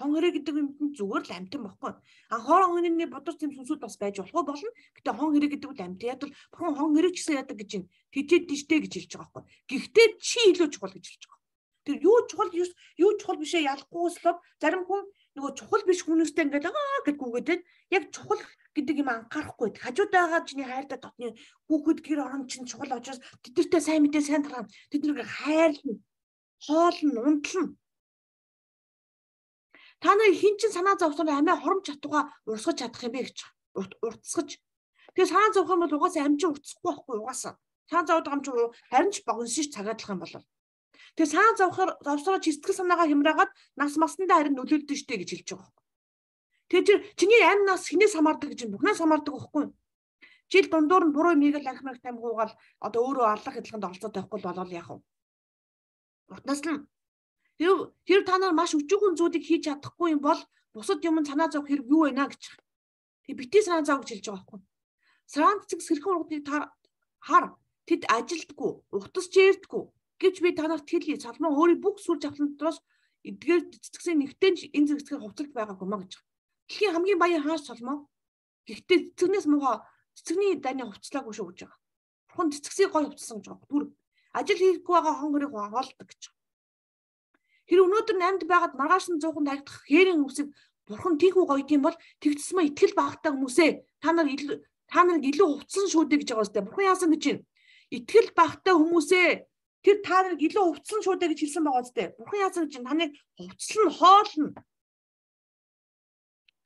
Хон ирээ гэдэг юм зүгээр л амтэн баггүй. А хоорон хүний бодож тийм сүнсүүд бас байж болох болно. Гэтэ хон ирээ гэдэг үл амтэн. Яг л бурхан хон ирээ гэсэн яадаг гэж юм. Тэжээд тийштэй гэж хэлж байгаа байхгүй. Гэхдээ чи илүү чухал гэж хэлж байгаа. Тэр юу чухал юу чухал бишээ ялахгүйслов зарим хүн нөгөө чухал биш хүмүүстэй ингээд аа гэд гүгээдээд яг чухал гэдэг юм анхаарахгүй. Хажуудаага чиний хайртай дотны хүүхэд гэр орон чинь чухал учраас тэдэртэй сайн мэдээ сайн тараа тэднийг хайрлна, хоолно, унтлна. Та нар хин чин санаа зовсоор амиа хоромж чадваа урсгаж чадах юм бэ гэж уртсгаж. Тэгээ санаа зовх юм бол угаасаа амжин уртсахгүй байхгүй угаасаа. Санаа зовд байгаа юм чи харин ч богиношиж цагаадлах юм бол. Тэгээ санаа зовхоор зовсороо сэтгэл санаагаа хямраагаад нас маснандаа харин нөлөөлдөг штэ гэж хэлж байгаа. Тэгээ чи чиний амь нас хинээс хамаардаг гэж бүхнээс хамаардаг байхгүй. Жил дундуур нь буруу мийг л архимаг тамгуугаал одоо өөрөө аллах хэлхэнд оролцоод байхгүй болол яах вэ? Утнаас нь хэрв хэрв та нар маш өчүүхэн зүйлийг хийж чадахгүй юм бол бусад юм санаа зовх хэрэг юу вэ наа гэж. Тэгээ битгий санаа зов гэж хэлж байгаа байхгүй. Сараан цэцэг сэрхэн ургуудыг хар тэд ажилддаггүй, утас чээрдэггүй гэвч би та нарт хэлье. Соломон өөрийн бүх сүр жавхлан дотроос эдгээр цэцэгсийн нэгтэн энэ цэцгээр хувцалж байгаагүй маа гэж. Дэлхийн хамгийн баян хааш Соломон. Гэхдээ цэцэгнээс муухай цэцэгний дайны хувцлаагүй шүү гэж байгаа. Бурхан цэцэгсийг гой хувцсан гэж байгаа. Түр ажил хийхгүй байгаа хон хөрийг хоолдог гэж. Тэр өнөөдөр амьд байгаад маргааш нь зуухан тагдах хээрийн үсэг бурхан тийхүү гойд юм бол тэгцсмэ итгэл багтаа хүмүүсээ та нар та нарыг илүү хувцсан шүү дээ гэж байгаа үстэй. Бурхан яасан гэж байна. Итгэл багтаа хүмүүсээ тэр та нарыг илүү хувцсан шүү дээ гэж хэлсэн байгаа үстэй. Бурхан яасан гэж байна. Таныг хувцлан хоолно.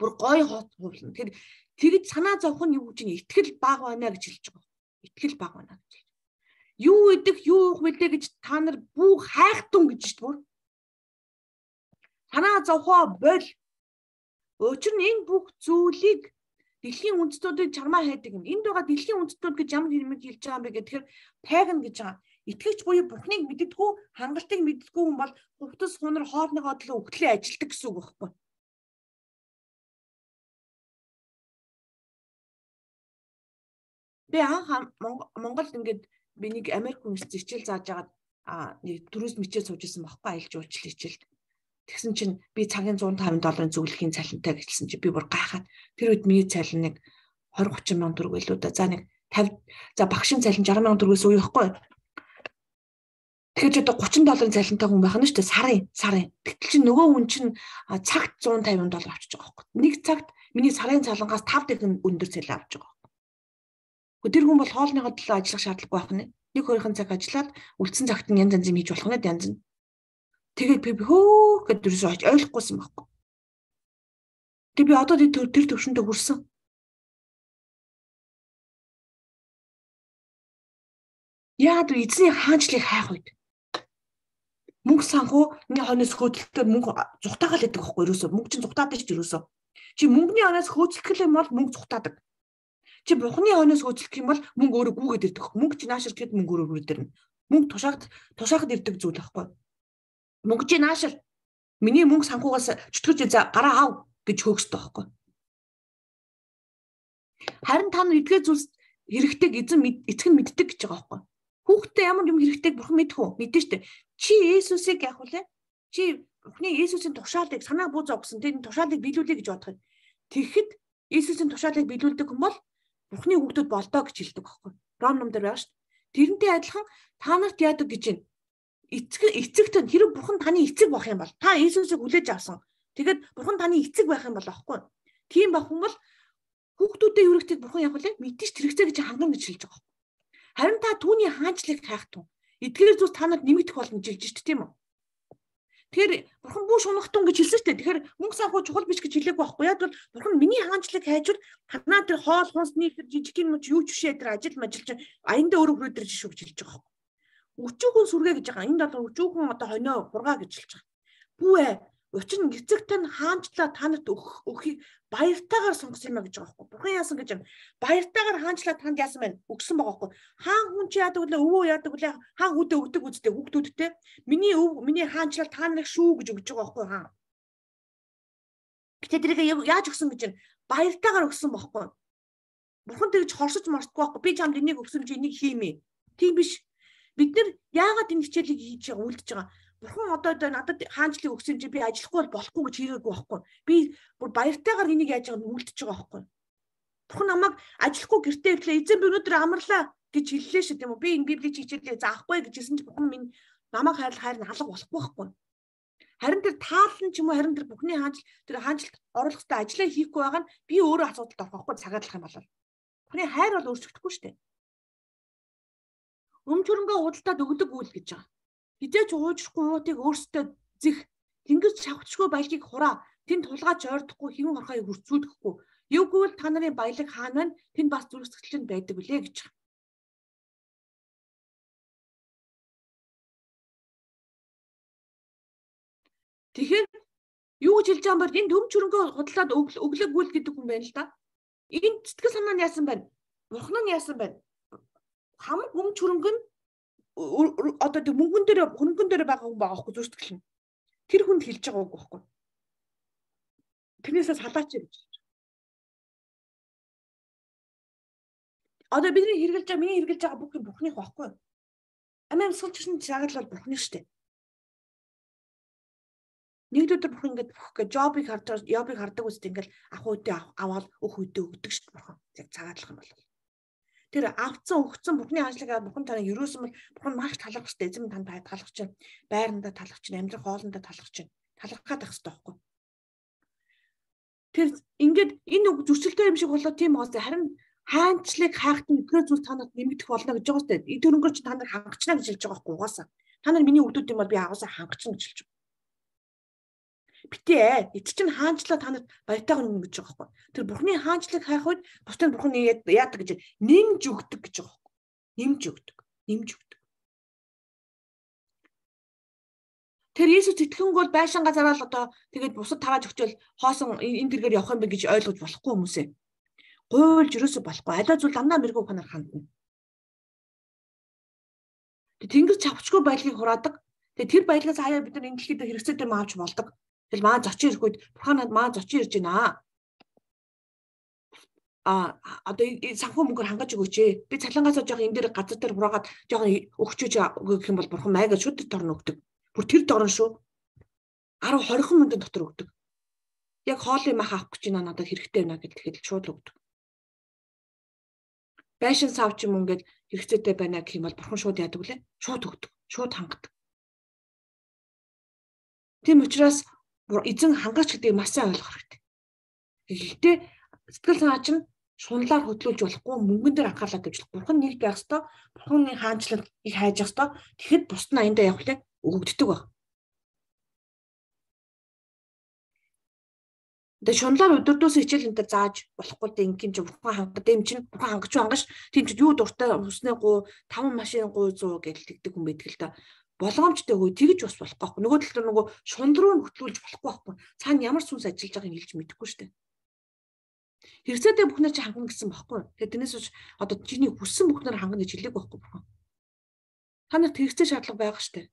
Бүр гой хувцлан. Тэр тэгж санаа зовх нь юу гэж байна? Итгэл баг байна гэж хэлж байгаа. Итгэл баг байна гэж. Юу идэх, юу уух вүлээ гэж та нар бүх хайхтун гэж шүү дээ. Санаа зовхоо бол. Учир нь энэ бүх зүйлийг дэлхийн үндэстнүүдийг чармаа хайдаг юм. Энд байгаа дэлхийн үндэстнүүд гэж ямар хэрмэг хэлж байгаа юм бэ гэхээр паган гэж байгаа. Итгэгч буюу Бурхныг мэддэггүй, хангалтыг мэддэггүй хүн бол хувцас хунар хоолныгоо төлөө өгтлээ ажилдаг гэсэн үг байхгүй. Би анх Монголд ингээд би нэг Америк хүн зичил зааж агаад нэг турист мичээ сууж исэн байхгүй аялал жуулчлал хичээлд. Тэгсэн чинь би цагийн зуун тавин долларын зөвлөхийн цалинтай гэсэн чинь би бүр гайхаад тэр үед миний цалин нэг двадцать тридцать мянган төгрөг байлуу да. За нэг пятьдесят за багшийн цалин сixty мянган төгрөгөөс уу яахгүй. Тэгэхээр ч одоо thirty долларын цалинтай хүн байх нь шүү дээ сарын сарын. Гэтэл чинь нөгөө хүн чинь цагт one fifty доллар авчиж байгаа байхгүй. Нэг цагт миний сарын цалингаас five дахин өндөр цалин авч байгаа байхгүй. Гэхдээ тэр хүн бол хоолныхоо төлөө ажиллах шаардлагагүй байх нь. Нэг хоёрхан цаг ажиллаад үлдсэн цагт нь янз янз юм хийж болох нь янз нь. Тэгээд би хөө гэдэг юусоо ойлгохгүйсэн байхгүй. Тэгээд би одоо тэр төвшөндө хүрсэн. Яад эзний хаанчлыг хайх үед. Мөнгө санхүү миний хонос хөөцөлтөөр мөнгө зүхтаагаал гэдэг байхгүй юусоо. Мөнгө чинь зүхтаадаг ч юусоо. Чи мөнгөний хонос хөөцөлөх юм бол мөнгө зүхтаадаг. Чи бурхны хонос хөөцөлөх юм бол мөнгө өөрөө гүгээд ирдэг. Мөнгө чи наашир гэхэд мөнгө өөрөө гүгээд ирнэ. Мөнгө тушаагт тушаахад ирдэг зүйл байхгүй. Мөнгө чи наашир миний мөнгө санхугаас чөтгөж за гараа аав гэж хөөгсдөг байхгүй. Харин та нар эдгээр зүйлс хэрэгтэйг эзэн эцэг нь мэддэг гэж байгаа байхгүй. Хүүхдээ ямар юм хэрэгтэйг бурхан мэдэх үү? Мэдэн штэ. Чи Есүсийг яах вэ? Чи Бурхны Есүсийн тушаалыг санаа буу зогсон тэр тушаалыг биелүүлээ гэж бодох юм. Тэгэхэд Есүсийн тушаалыг биелүүлдэг хүн бол Бурхны хүүхдүүд болдоо гэж хэлдэг байхгүй. Ром ном дээр байгаа штэ. Тэрнтэй адилхан та нарт яадаг гэж байна. Эцэг эцэгт хэрэг бурхан таны эцэг байх юм бол та Иесусыг хүлээж авсан. Тэгэд бурхан таны эцэг байх юм бол аахгүй. Тийм байх юм бол хүүхдүүдээ юу нэгтэй бурхан яг үлээ мэдээж тэрэгцээ гэж ханган гэж хэлж байгаа. Харин та түүний хаанчлыг хайх тун. Эдгээр зүйлс та нарт нэмэгдэх болно гэж хэлж шүү дээ тийм үү? Тэгэхээр бурхан бүү шунахтун гэж хэлсэн шүү дээ. Тэгэхээр мөнгө санхүү чухал биш гэж хэлээгүй байхгүй. Яг бол бурхан миний хаанчлыг хайжвал танаа тэр хоол хунсны жижиг юм ч юу ч бишээ тэр ажил мажилж аяндаа өөрөө хүрээдэрж шүү гэж хэлж байгаа. Өчүүхэн сүргээ гэж байгаа. Энд бол өчүүхэн одоо хонио хургаа гэж хэлж байгаа. Бүү ээ. Учир нь эцэг тань хаанчлаа та нарт өгөхийг баяртайгаар сонгосон юм а гэж байгаа байхгүй. Бурхан яасан гэж юм. Баяртайгаар хаанчлаа танд яасан байна? Өгсөн байгаа байхгүй. Хаан хүн чи яадаг вэ? Өвөө яадаг вэ? Хаан үдэ өгдөг үстэй хүүхдүүдтэй. Миний өв миний хаанчлал та нарыг шүү гэж өгж байгаа байхгүй хаан. Гэтэ тэрийг яаж өгсөн гэж юм. Баяртайгаар өгсөн байхгүй. Бурхан тэгж хорсож мартахгүй байхгүй. Би чамд энийг өгсөн чи энийг хиймээ. Тийм биш. Бид нар яагаад энэ хичээлийг хийж байгаа үлдэж байгаа? Бурхан одоо одоо надад хаанчлыг өгсөн чи би ажиллахгүй болохгүй гэж хийгээгүй байхгүй. Би бүр баяртайгаар энийг яаж байгааг үлдэж байгаа байхгүй. Бурхан намайг ажиллахгүй гэртээ ирлээ. Эзэн би өнөөдөр амарлаа гэж хэллээ шүү тийм үү? Би энэ библийн хичээлээ заахгүй гэж хэлсэн чи Бурхан минь намайг хайрлах хайр нь алга болохгүй байхгүй. Харин тэр таалан ч юм уу харин тэр бүхний хаанчл тэр хаанчлалд оруулах хэрэгтэй ажлаа хийхгүй байгаа нь би өөрөө асуудалд орох байхгүй цагаадлах юм болол. Бүхний хайр бол өөрчлөгдөхгүй шүү дээ. Өмчөрөнгөө худалдаад өгдөг үйл гэж байгаа. Хизээч уужрахгүй уутыг өөрсдөө зих тэнгис шавхчгүй баялагийг хураа. Тэнд тулгаач ойрдохгүй хэвэн хорхоо хүрцүүлэхгүй. Юугүй л та нарын баялаг хаана байна? Тэнд бас зүрхсэтгэлэн байдаг үлээ гэж. Тэгэхээр юу гэж хэлж байгаа юм бэ? Энд төмч хөрөнгөө худалдаад өглөг гүйл гэдэг хүн байна л да. Энд сэтгэл санаа нь яасан байна? Бурхан нь яасан байна? Хамаг өмч хөрөнгө нь одоо тэг мөнгөн дээр хөрөнгөн дээр байгаа хүн байгаа хгүй зүрхсэтгэл нь. Тэр хүнд хэлж байгаа үг байхгүй. Тэрнээсээ салаач гэж. Одоо бидний хэрглэж байгаа, миний хэрглэж байгаа бүх юм Бурханых байхгүй. Амийн суулчсан цагаал бол Бурханых штэ. Нэг өдөр Бурхан ингээд бүх гэж жобыг хардаг, жобыг хардаг үстэй ингээд ах үүдээ аваад өх үүдээ өгдөг штэ Бурхан. Яг цагаатлах юм бол. Тэр авцсан өгцөн Бурханы хаанчлага Бурхан таныг юусэн бол Бурхан маш талархах штэ. Эзэм танд талархах чинь, байрандаа талархах чинь, амьдрах хоолндоо талархах чинь. Талархах байх хэрэгтэй байхгүй. Тэр ингээд энэ үг зөрчилтэй юм шиг болоо тийм гоос харин хаанчлыг хайхтан эдгээр зүйл танад нэмэгдэх болно гэж байгаа сте. Эд төрөнгөөр чи та нар хангачна гэж хэлж байгаа байхгүй угаасаа. Та нар миний өгдүүд юм бол би агуулсаа хангачна гэж хэлж байгаа. Битээ эд чинь хаанчлаа танад баятайгаа нэмж гэж байгаа байхгүй. Тэр Бурханы хаанчлыг хайх үед бусдын Бурхан яадаг гэж нэмж өгдөг гэж байгаа байхгүй. Нэмж өгдөг. Нэмж өгдөг. Тэр Иесус итгэн бол байшин газараа л одоо тэгээд бусад тагааж өгчөөл хоосон энэ тэргээр явах юм бэ гэж ойлгож болохгүй хүмүүсээ. Гуйлж юусоо болохгүй. Аливаа зүйл дандаа мэрэгүү ханаар хандна. Тэгээд тэнгэр чавчгүй баялагийг хураадаг. Тэгээд тэр баялагаас хаяа бид нар энэ дэлхийд хэрэгцээтэй маавч болдог. Тэгэл маа зочин ирэх үед Бурханад маа зочин ирж байна. А одоо санхүү мөнгөөр хангаж өгөөч ээ. Би цалингаасаа жоох энэ дээр газар дээр хураагаад жоох өгчөөж гэх юм бол Бурхан майгаа шүд торно өгдөг. Бүр тэр дорн шүү. арав хорих мянган дотор өгдөг. Яг хоолын мах авах гэж байна надад хэрэгтэй байна гэж тэгэхэд шууд өгдөг. Байшин савч юм ингээд хэрэгцээтэй байна гэх юм бол Бурхан шууд яадаг үлээ? Шууд өгдөг. Шууд хангадаг. Тийм учраас эзэн хангаач гэдгийг маш сайн ойлгох хэрэгтэй. Гэхдээ сэтгэл санаа чинь шунлаар хөдлүүлж болохгүй, мөнгөн дээр анхаарлаа тавьж болох. Бурхан нэг байх ёстой. Бурханы хаанчлал их хайж ёстой. Тэгэхэд бусд нь аяндаа явах лээ өгөгддөг баг. Тэгээ шунлаар өдөрдөөс хичээл энэ төр зааж болохгүй дээ ингийн чи Бурхан хангад юм чинь Бурхан хангаж хангаш тийм ч юу дуртай хүснээ гоо таван машин гоо зүү гэж тэгдэг хүн байдаг л та. Болгоомжтой хөө тэгж бас болохгүй. Нөгөө талд нөгөө шунд руу хөтлүүлж болохгүй байхгүй. Цаана ямар сүнс ажиллаж байгааг хэлж мэдэхгүй шүү дээ. Хэрэгцээтэй бүхнээр чи хангана гэсэн байхгүй. Тэгэхээр тэрнээс ч одоо чиний хүссэн бүхнээр хангана гэж хэлээг байхгүй Бурхан. Та нарт хэрэгцээ шаардлага байгаа шүү дээ.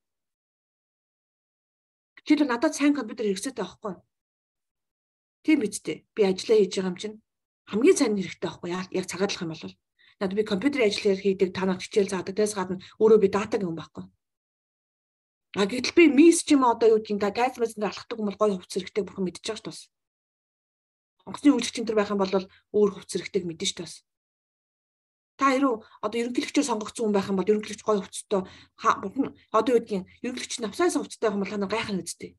Чи л надад сайн компьютер хэрэгцээтэй байхгүй. Тийм биз дээ. Би ажиллаа хийж байгаа юм чинь хамгийн сайн хэрэгтэй байхгүй. Яг цагаадлах юм бол надад би компьютерийн ажил хийдэг, та нарт хичээл заадаг, дээс гадна өөрөө би дата гэн байхгүй. А гэтэл би мис ч юм одоо юу гэдгийг та тайз мэсэнд алхдаг юм бол гоё хувцас хэрэгтэй Бурхан мэдчихэж байгаа шүү дээ. Онгоцны үйлчлэгчин төр байх юм бол өөр хувцас хэрэгтэйг мэдэн шүү дээ. Та хэрүү одоо ерөнхийлөгчөөр сонгогдсон хүн байх юм бол ерөнхийлөгч гоё хувцастай Бурхан одоо юу гэдгийг ерөнхийлөгч навсаас хувцастай байх юм бол та нар гайхах үстэй.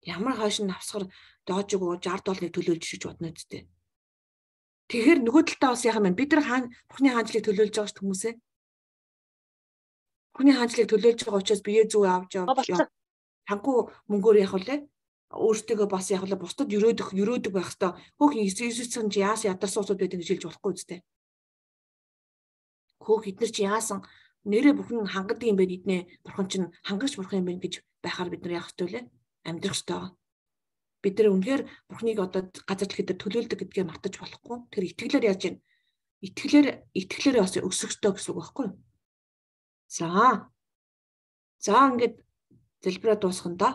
Ямар хойш навсгар доожиг уу шестьдесят долларыг төлөөлж гэж бодно үстэй. Тэгэхээр нөгөө талдаа бас яах юм бэ? Бид нар хаан Бурханы хаанчлыг төлөөлж байгаа шүү хүмүүсээ. Бурханы хаанчлыг төлөөлж байгаа учраас бие зүг авч явж хангу мөнгөөр явах үлээ. Өөртөө бас яг л бусдад өрөөдөх өрөөдөг байх хэвээр хөөх Иесусийн чи яасан ядарсан усуд байдаг гэж хэлж болохгүй үстэй. Хөөх эднэр чи яасан нэрээ бүхэн хангадаг юм бэ эднээ Бурхан чинь хангагч Бурхан юм байна гэж байхаар бид нар яах хэвээр лээ амьдрах хэвээр. Бид нар үнэхээр Бурханыг одоо газар дэлхийд төлөөлдөг гэдгээ мартаж болохгүй. Тэр итгэлээр яаж юм? Итгэлээр итгэлээр бас өсөх ёстой гэсэн үг байхгүй юу? За. За ингээд залбираа дуусгана да.